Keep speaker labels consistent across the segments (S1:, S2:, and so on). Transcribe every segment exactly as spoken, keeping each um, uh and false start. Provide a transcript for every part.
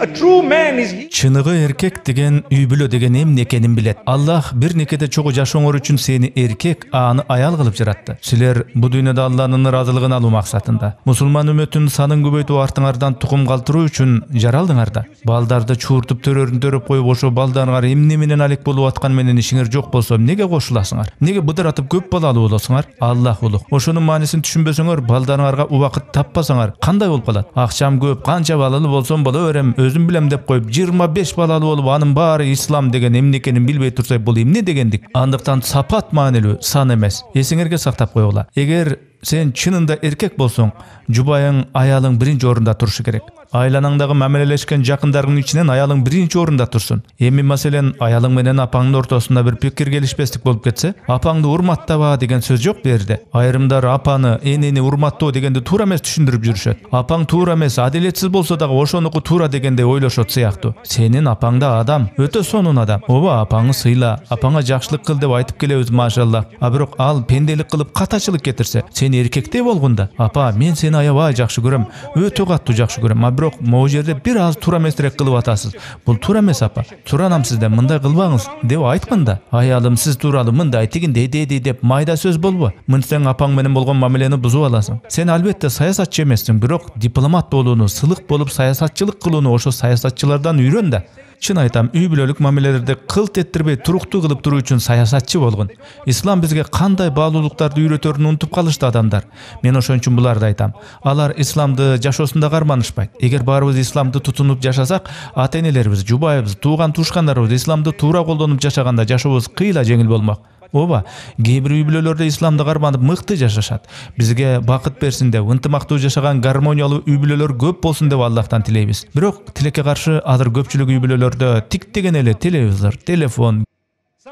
S1: A true man is he.
S2: Чыныгы эркек деген үй бүлө деген эмне экенин билет. Аллах бир некеде чогуу жашооңор үчүн сени эркек, аны аял кылып жаратты. Силер бу дүйнөдө Алланын ыраазылыгын алуу максатында мусулман үммөтүнүн санын көбөйтүп артыңардан тукум калтыруу үчүн жаралдыңар да. Балдарды чууртуп төрөрүн төрөп коюп ошо балдарыңар эмне менен алек болуп аткан менен ишиңер жок болсо эмнеге кошуласыңар? Эмнеге быдыратып көп балалуу болосуңар? Аллах улук. Ошонун маанисин түшүнбөсөңөр, балдарыңарга убакыт таппасаңар кандай болуп калат? Акчам көп, канча балалуу болсом боло берем, өзүм билем деп коюп жыйырма беш балалуу болуп, анын баары ислам деген эмне экенин билбей турса, бул эмне дегендик? Андыктан сапат маанилүү, сан эмес. Эсиңерге сактап койгула. Эгер сен чынында эркек болсоң, жубайың, аялың биринчи орунда турушу керек. Айланаңдагы мамилелешкен жакындарыңдын ичинен аялың биринчи орунда турсун. Эми маселен аялың менен апаңдын ортосунда бир пикир келишпестик болуп кетсе, апаңды урматтаба деген сөз жок бу жерде. Айрымдар апаны, энени урматтоо дегенди туура эмес түшүндүрүп жүрүшөт. Апаң туура эмес, адилетсиз болсо дагы ошонуку туура дегенде ойлошот сыяктуу. Сенин апаң да адам, өтө сонун адам. Ооба, апаңы сыйла, апаңа жакшылык кыл деп айтып келебиз, машалла. А бирок ал пенделик кылып катачылык кетирсе, сен эркектей болгонда, апа, мен сени аябай жакшы көрөм, өтө катуу жакшы көрөм. А бирок могу жерде бир аз туура эмесирээк кылып атасыз. Бул туура эмес, апа. Суранам сизден, мындай кылбаңыз деп айтканда, аялым сиз тууралуу мындай тигиндей деди деп майда сөз болбу. Мынсаң апаң менен болгон мамилени бузуп аласың. Сен албетте саясатчы эмессиң, бирок дипломат болууну, сылык болуп саясатчылык кылууну ошо саясатчылардан үйрөн да. Чын айтам, үй бүлөлүк мамилелерди кылт эттирбей туруктуу кылып туруу үчүн саясатчы болгон. Ислам бизге кандай баалуулуктарды үйрөтөрүн унутуп калышты адамдар. Мен ошон үчүн буларды айтам. Алар исламды жашоосунда карманышпайт. Эгер баарыбыз исламды тутунуп жашасак, ата-энелерибиз, жубайыбыз, тууган туушкандарыбыз исламды туура колдонуп жашаганда жашообуз кыйла жеңил болмок. Ооба, кээ бир үй бүлөлөрдө исламды карманып мыкты жашашат. Бизге бакыт берсин деп, ынтымактуу жашаган гармониялуу үй бүлөлөр көп болсун деп Аллахтан тилейбиз. Бирок тилекке каршы азыр көпчүлүк үй бүлөлөрдө тик деген эле телевизор, телефон,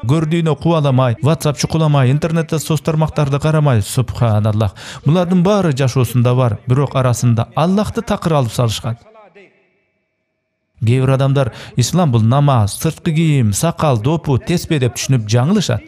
S2: көрдүйнө кубаламай, WhatsApp чукуламай, интернетте соц тармактарды карамай, субханаллах. Булардын баары жашоосунда бар, бирок арасында Аллахты такыр алып салышкан. Кээ бир адамдар ислам бул намаз, сырткы кийим, сакал, допу, теспе деп түшүнүп жаңылышат.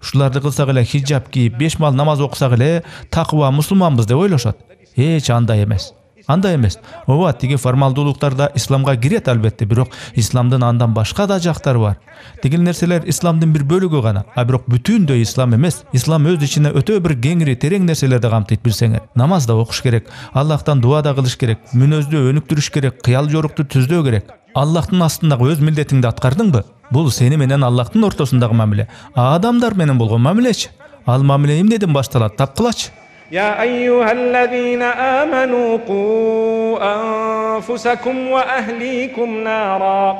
S2: Ушуларды кылсак эле хиджаб кийип, беш мал намаз окусак эле такыба мусулманбыз деп ойлошот. Эч андай эмес. Андай эмес. Ооба, тиги формалдуулуктарда исламга кирет албетте, бирок исламдын андан башка да жактары бар. Тигил нерселер исламдын бир бөлүгү гана, а бирок бүтүндөй ислам эмес. Ислам өз ичине өтө бир кеңири, терең нерселерди камтыйт билсеңер. Намаз да окуш керек, Аллахтан дуа да кылыш керек, мүнөздү өнүктүрүш керек, кыял жорукту түздөө керек. Аллахтын астындагы өз милдетиңди аткардыңбы? Бул сени менен Аллахтын ортосундагы мамиле. А адамдар менен болгон мамилечи? Ал мамиле эмнеден башталат? Тапкылачы.
S1: يا أيها الذين آمنوا قوا أنفسكم وأهليكم نارا.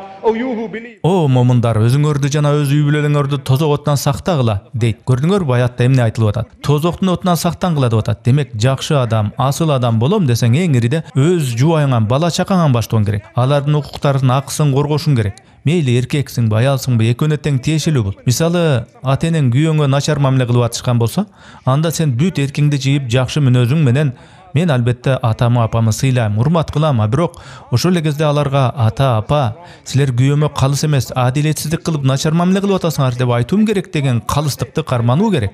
S2: О момундар, өзүңөрдү жана өз үй бүлөлөрүңөрдү тозок оттон сактагыла дейт. Көрдүңөрбү, аятта эмне айтылып атат? Тозоктун отунан сактангыла деп атат. Демек, жакшы адам, асыл адам болом десең, эң ириде өз жубайыңан, бала чакаңан баштоон керек. Алардын укуктарын, акысын коргошуң керек. Мейли эркексиңби, аялсыңбы, экөөнө тең тиешелүү бул. Мисалы, ата-энең күйөөңө начар мамиле кылып атышкан болсо, анда сен бүт эркиңди жыйып, жакшы мүнөзүң менен мен албетте атамы, апамы сыйлайм, урмат кылам, а бирок ошол эле кезде аларга ата, апа, силер күйөөмө калыс эмес, адилетсиздик кылып начар мамиле кылып атасыңар деп айтуум керек деген калыстыкты кармануу керек.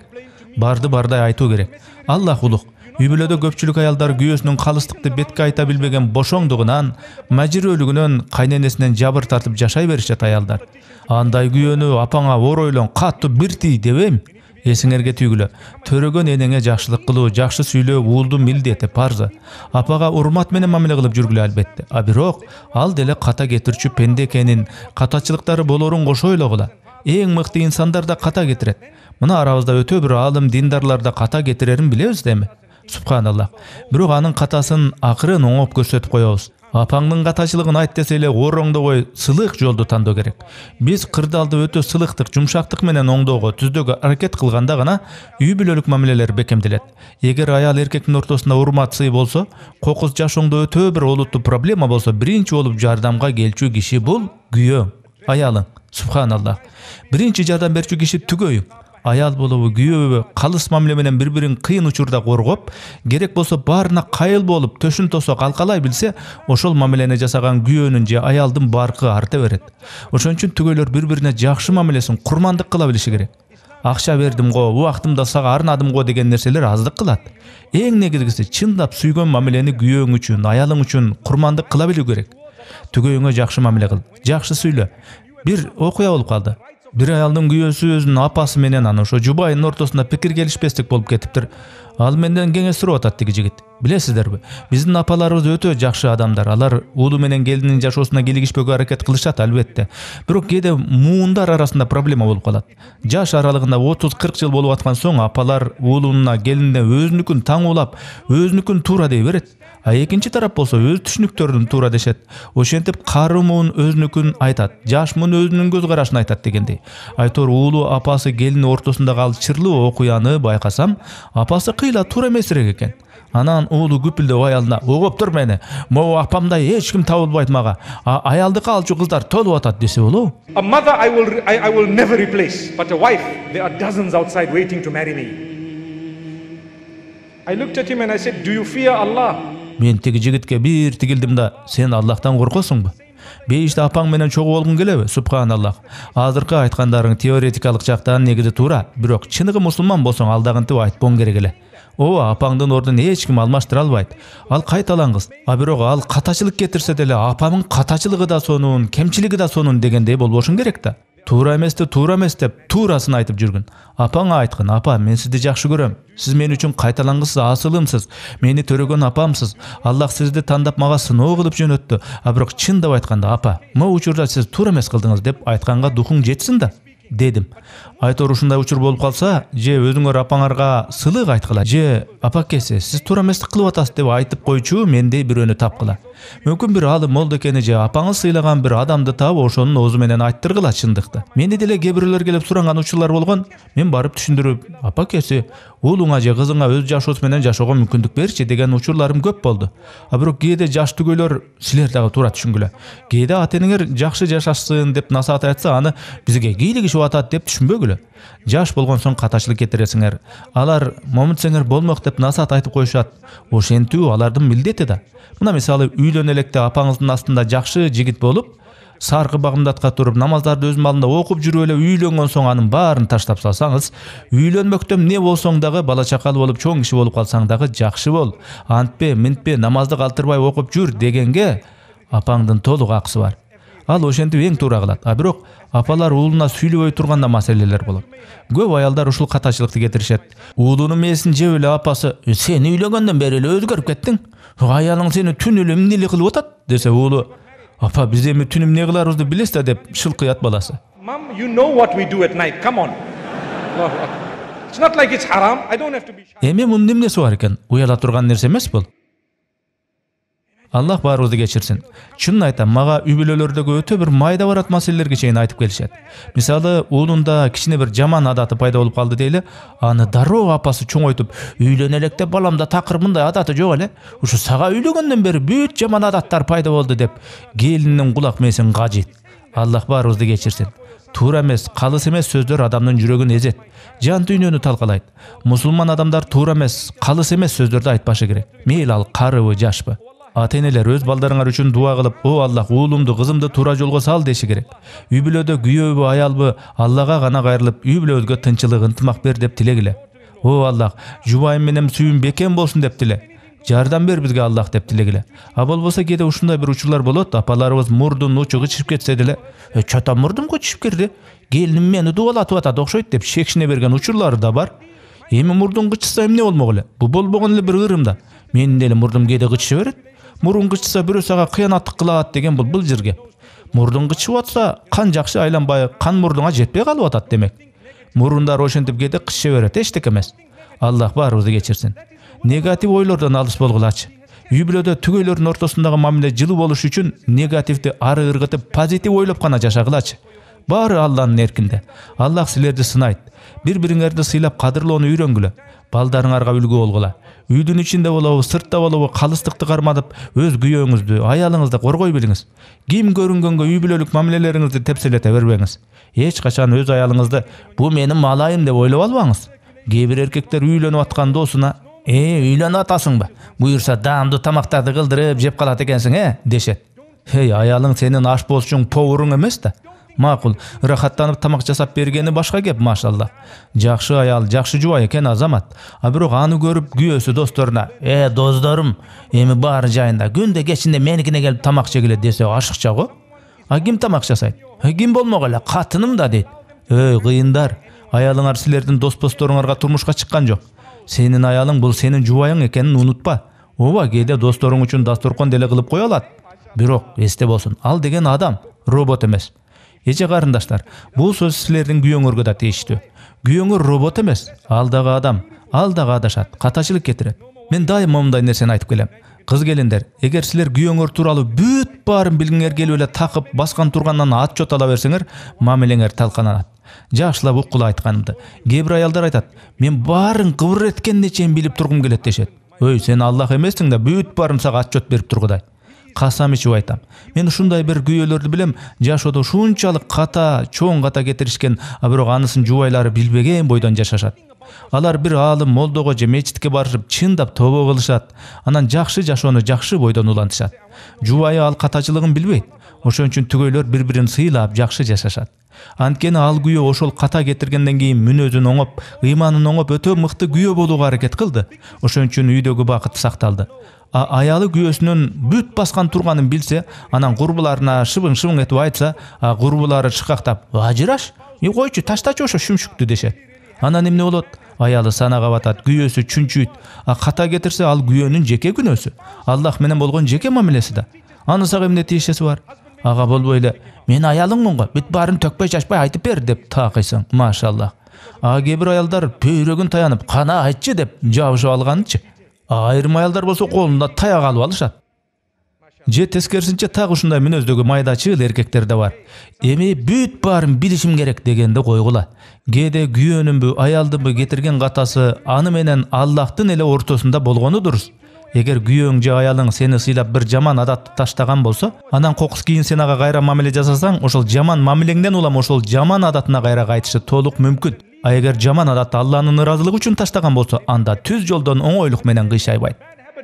S2: Барды бардай айтуу керек. Аллах улук. Үй бүлөдө көпчүлүк аялдар күйөөсүнүн калыстыкты бетке айта билбеген бошоңдугунан, мажирөлүгүнөн, кайненесинен жабыр тартып жашай беришет аялдар. Андай күйөөнү апаңа оор ойлон, катуу бир тий дебейм. Эсиңерге түйгүлө. Төрөгөн энеңе жакшылык кылуу, жакшы сүйлөө уулдун милдети, парзы. Апага урмат менен мамиле кылып жүргүлө албетте. А бирок ал деле ката кетирчү пенде экенин, катачылыктары болорун кошо ойлогула. Эң мыкты инсандар да ката кетирет. Мына арабызда өтө бир аалым диндарлар да ката кетирерин билебиз деми? Субханаллах. Бирок анын катасын акырын оңоп көрсөтүп коебуз. Апаңдын катачылыгын айт десе эле ороңдогой сылык жолду тандоо керек. Биз кырдаалды өтө сылыктык, жумшактык менен оңдоого, түздөгө аракет кылганда гана үй бүлөлүк мамилелер бекемделет. Эгер аял эркектин ортосунда урмат сый болсо, кокус жашооңдо өтө бир олуттуу проблема болсо, биринчи болуп жардамга келчү киши бул күйөөң, аялың. Субханаллах. Биринчи жардам берчү киши түгөйүң. Аял болобу, күйөөбү калыс мамиле менен бири-бирин кыйын учурда коргоп, керек болсо баарына кайыл болуп, төшүн тосо калкалай билсе, ошол мамилени жасаган күйөөнүн же аялдын баркы арта берет. Ошон үчүн түгөйлөр бири-бирине жакшы мамилесин, курмандык кыла билиши керек. Акча бердим го, убактымда сага арнадым го деген нерселер аздык кылат. Эң негизгиси чындап сүйгөн мамилени күйөөң үчүн, аялың үчүн курмандык кыла билүү керек. Түгөйүңө жакшы мамиле кыл, жакшы сүйлө. Бир окуя болуп калды. Бир аялдын күйөөсү өзүнүн апасы менен анан ошо жубайынын ортосунда пикир келишпестик болуп кетиптир. Ал менден кеңеш сурап атат тиги жигит. Билесиздерби, биздин апаларыбыз өтө жакшы адамдар. Алар уулу менен келинин жашоосуна кийлигишпөөгө аракет кылышат албетте. Бирок кээде муундар арасында проблема болуп калат. Жаш аралыгында отуз кырк жыл болуп аткан соң апалар уулуна, келинине өзүнүкүн таңуулап, өзүнүкүн туура дей берет. А экинчи тарап болсо өз түшүнүктөрүн туура дешет. Ошентип кары муун өзүнүкүн айтат, жаш муун өзүнүн көз карашын айтат дегендей. Айтор уулу апасы келини ортосундагы ал чырлуу окуяны байкасам, апасы кыйла туура эмесирээк экен. Анан уулу күпүлдөп аялына: "Угуп тур мени. Могу апамдай эч ким табылбайт мага. А аялдыкы алчу кыздар толуп атат" десе болобу?
S1: A mother I will I, I will never replace, but a wife, there are dozens outside waiting to marry me. I looked at him and I said, "Do you fear Allah?"
S2: Мен тиги жигитке бир тигилдим да: "Сен Аллахтан коркосуңбу? Бейиште апаң менен чогуу болгуң келеби?" Субханаллах. Азыркы айткандарың теоретикалык жактан негизи туура, бирок чыныгы мусулман болсоң алдагынтип айтпоң керек эле. О, апаңдын ордун эч ким алмаштыра албайт. Ал кайталан кыз. А бирок ал катачылык кетирсе деле апамын катачылыгы да сонун, кемчилиги да сонун дегендей болбошун керек да. Туура эмести, туура эмес деп туурасын айтып жүргүн. Апаңа айткын: "Апа, мен сизди жакшы көрөм. Сиз мен үчүн кайталангысыз, асылымсыз. Мени төрөгөн апамсыз. Аллах сизди тандап мага сыноо кылып жөнөттү. А бирок чындап айтканда, апа, могу учурда сиз туура эмес кылдыңыз" деп айтканга духуң жетсин да, дедим. Айтор ушундай учур болуп калса, же өзүңөр апаңарга сылык айткыла, же "Апакеси, сиз туура эместик кылып атасыз" деп айтып койчу мендей бирөөнү тапкыла. Мүмкүн бир алым молдо экени же апаңыз сыйлаган бир адамды таап ошонун оозу менен айттыргыла чындыкты. Мени деле кээ бирөөлөр келип суранган учурлар болгон. Мен барып түшүндүрүп: "Апакеси, уулуңа же кызыңа өз жашоосу менен жашоого мүмкүндүк берчи" деген учурларым көп болду. А бирок кээде жаш түгөйлөр: "Силер дагы туура түшүнгүлө. Кээде ата-энеңер жакшы жашашсын деп насаат айтса, аны бизге кийлигишип атат деп түшүнбөгүлө. Жаш болгон соң катачылык кетиресиңер. Алар момунтсеңер болмок деп насаат айтып коюшат. Ошентүү алардын милдети да. Мына мисалы, үйлөнө электе апаңыздын астында жакшы жигит болуп, саркы багымдатка туруп, намаздарды өз малында окуп жүрүп эле үйлөнгөн соң анын баарын таштап салсаңыз, үйлөнмөктөн эмне болсоң дагы, бала чакалы болуп чоң киши болуп калсаң дагы жакшы бол. Антпе, минтпе, намазды калтырбай окуп жүр дегенге апаңдын толук акысы бар. Ал ошентип эң туура кылат. А бирок апалар уулуна сүйлөбөй турганда маселелер болот. Көп аялдар ушул катачылыкты кетиришет. Уулунун мээсин жеп эле апасы: "Сен үйлөнгөндөн бери эле өзгөрүп кеттиң. Аялың сени түн эле эмнеле кылып атат" десе, уулу: "Апа, биз эми түн эмне кыларыбызды билесиз да" деп шылкыят баласы.
S1: Mom, you know what we do at night. Come on. It's not like it's haram. I don't have to be.
S2: Эми мунун эмнеси бар экен? Уяла турган нерсе эмес бул. Аллах баарыбызды кечирсин. Чынын айтам, мага үй бүлөлөрдөгү өтө бир майда барат маселелерге чейин айтып келишет. Мисалы, уулунда кичине бир жаман адаты пайда болуп калды дейли, аны дароо апасы чоңойтуп: "Үйлөнө электе баламда такыр мындай адаты жок эле. Ушу сага үйлөнгөндөн бери бүт жаман адаттар пайда болду" деп келинин кулак мээсин кажыйт. Аллах баарыбызды кечирсин. Туура эмес, калыс эмес сөздөр адамдын жүрөгүн эзет, жан дүйнөнү талкалайт. Мусулман адамдар туура эмес, калыс эмес сөздөрдү айтпашы керек. Мейли ал карыбы, жашпы. Ата-энелер өз балдарыңар үчүн дуа кылып: "О Аллах, уулумду, кызымды туура жолго сал" деши керек. Үй бүлөдө күйөөбү, аялбы Аллага гана кайрылып, үй бүлөбүзгө тынччылык, ынтымак бер деп тилегиле. О Аллах, жубайым менен сүйүм бекем болсун деп тиле. Жардам бер бизге Аллах деп тилегиле. А болбосо кээде ушундай бир учурлар болот, апаларыбыз мурдун учу кычып кетсе деле: "Э, чата мурдум кычып кирди. Келиним мени дубалатып атат окшойт" деп шекшине берген учурлары да бар. Эми мурдун кычса эмне болмок эле? Бу болбогон эле бир ырым да. Менин деле мурдум кээде кычыша берет. Мурун кычса бирөө сага кыянаттык кылат деген бул былжыр кеп. Мурдун кычып атса, кан жакшы айланбай, кан мурдуңа жетпей калып атат демек. Мурундар ошентип кээде кычыша берет, эчтеке эмес. Аллах баарыбызды кечирсин. Негатив ойлордон алыс болгулачы. Үй бүлөдө түгөйлөрдүн ортосундагы мамиле жылуу болуш үчүн негативди ары ыргытып, позитив ойлоп гана жашагылачы. Баары Алланын эркинде. Аллах силерди сынайт. Бири-бириңерди сыйлап кадырлоону үйрөнгүлө. Балдарыңарга үлгү болгула. Үйдүн ичинде болобу, сыртта болобу, калыстыкты кармадып, өз күйөөңүздү, аялыңызды коргой билиңиз. Ким көрүнгөнгө үй бүлөлүк мамилелериңизди тепселете бербеңиз. Эч качан өз аялыңызды "Бу менин малайым" деп ойлоп албаңыз. Кээ бир эркектер үйлөнүп аткан досуна: "Э, үйлөнүп атасыңбы? Буюрса даамдуу тамактарды кылдырып жеп калат экенсиң, э?" дешет. Эй, аялың сенин ашпозчуң, повуруң эмес да. Макул, ырахаттанып тамак жасап бергени башка кеп, машалла. Жакшы аял, жакшы жубай экен Азамат. А бирок аны көрүп күйөөсү досторуна: "Э, досторум, эми баары жайында, күндө кечинде меникине келип тамак жегиле" десе ашыкча го. А ким тамак жасайт? Ким болмок эле, катыным да дейт. Эй, кыйындар, аялыңар силердин дос-досторуңарга турмушка чыккан жок. Сенин аялың бул сенин жубайың экенин унутпа. Ооба, кээде досторуң үчүн дасторкон деле кылып кое алат. Бирок эсте болсун, ал деген адам, робот эмес. Эже карындаштар, бул сөз силердин күйөөңөргө да тийиштүү. Күйөөңөр робот эмес, ал дагы адам, ал дагы адашат, катачылык кетирет. Мен дайыма мындай нерсени айтып келем. Кыз келиндер, эгер силер күйөөңөр тууралуу бүт баарын билгиңер келип эле такып баскан тургандан отчет ала берсеңер, мамилеңер талканат. Жакшылап уккула айтканымды. Кээ бир аялдар айтат: "Мен баарын кыбыр эткенде чейин билип тургум келет" дешет. Өй, сен Аллах эмессиң да бүт баарын сага отчет берип тургудай. Касам ичип айтам. Мен ушундай бир күйөөлөрдү билем, жашоодо ушунчалык ката, чоң ката кетиришкен, а бирок анысын жубайлары билбеген бойдон жашашат. Алар бир аалым молдого же мечитке барышып чындап тобо кылышат, анан жакшы жашоону жакшы бойдон улантышат. Жубайы ал катачылыгын билбейт. Ошон үчүн түгөйлөр бири-бирин сыйлап жакшы жашашат. Анткени ал күйөө ошол ката кетиргенден кийин мүнөзүн оңоп, ыйманын оңоп өтө мыкты күйөө болууга аракет кылды. Ошон үчүн үйдөгү бакыт сакталды. А аялы күйөөсүнүн бүт баскан турганын билсе, анан курбуларына шыбың-шыбың этип айтса, а курбулары шыкактап: "Ажыраш, и койчу, таштачы ошо шүмшүктү" дешет. Анан эмне болот? Аялы санага батат, күйөөсү чүнчүйт. А ката кетирсе, ал күйөөнүн жеке күнөөсү. Аллах менен болгон жеке мамилеси да. Анысага эмне тиешеси бар? Ага болбой эле: "Мен аялыңмын го, бүт баарын төкпөй чачпай айтып бер" деп такыйсың, машалла. А кээ бир аялдар пөйрөгүн таянып: "Кана айтчы" деп жабышып алганычы. Айрым аялдар болсо колунда таяк алып алышат. Же тескерисинче так ушундай мүнөздөгү майдачыл эркектер да бар. Эми бүт баарын билишим керек дегенди койгула. Кээде күйөөнүнбү, аялдынбы кетирген катасы аны менен Аллахтын эле ортосунда болгону дурус. Эгер күйөөң же аялың сени сыйлап бир жаман адатты таштаган болсо, анан кокус кийин сен ага кайра мамиле жасасаң, ошол жаман мамилеңден улам ошол жаман адатына кайра кайтышы толук мүмкүн. А эгер жаман адатты Алланын ыраазылыгы үчүн таштаган болсо, анда түз жолдон оңойлук менен кыйшайбайт.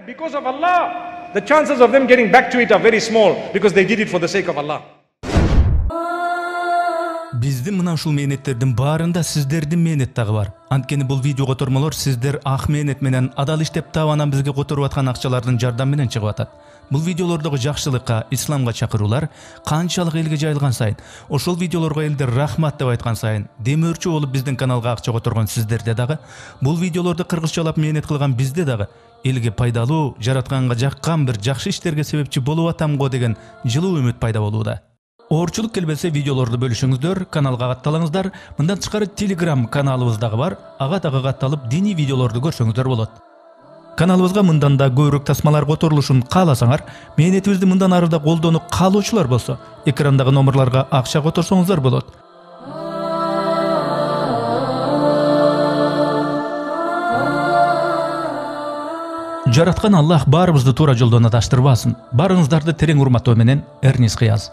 S1: Because of Allah, the chances of them getting back to it are very small because they did it for the sake of Allah.
S2: Биздин мына ушул мээнеттердин баарында сиздердин мээнет дагы бар. Анткени бул видео котормолор сиздер ак мээнет менен адал иштеп таап анан бизге которуп аткан акчалардын жардамы менен чыгып атат. Бул видеолордогу жакшылыкка, исламга чакыруулар канчалык элге жайылган сайын, ошол видеолорго элдер рахмат деп айткан сайын, демөөрчү болуп биздин каналга акча которгон сиздерде дагы, бул видеолорду кыргызчалап мээнет кылган бизде дагы элге пайдалуу, жаратканга жаккан бир жакшы иштерге себепчи болуп атамго деген жылуу үмүт пайда болууда. Оорчулук келбесе видеолорду бөлүшүңүздөр, каналга катталыңыздар. Мындан тышкары Telegram каналыбыз дагы бар. Ага дагы катталып, диний видеолорду көрсөңүздөр болот. Каналыбызга мындан да көбүрөөк тасмалар которулушун кааласаңар, мээнетибизди мындан ары да колдонуп калуучулар болсо, экрандагы номерларга акча которсоңуздар болот. Жараткан Аллах баарыбызды туура жолдон адаштырбасын. Барыңыздарды терең урматтоо менен, Эрнис Кыяз.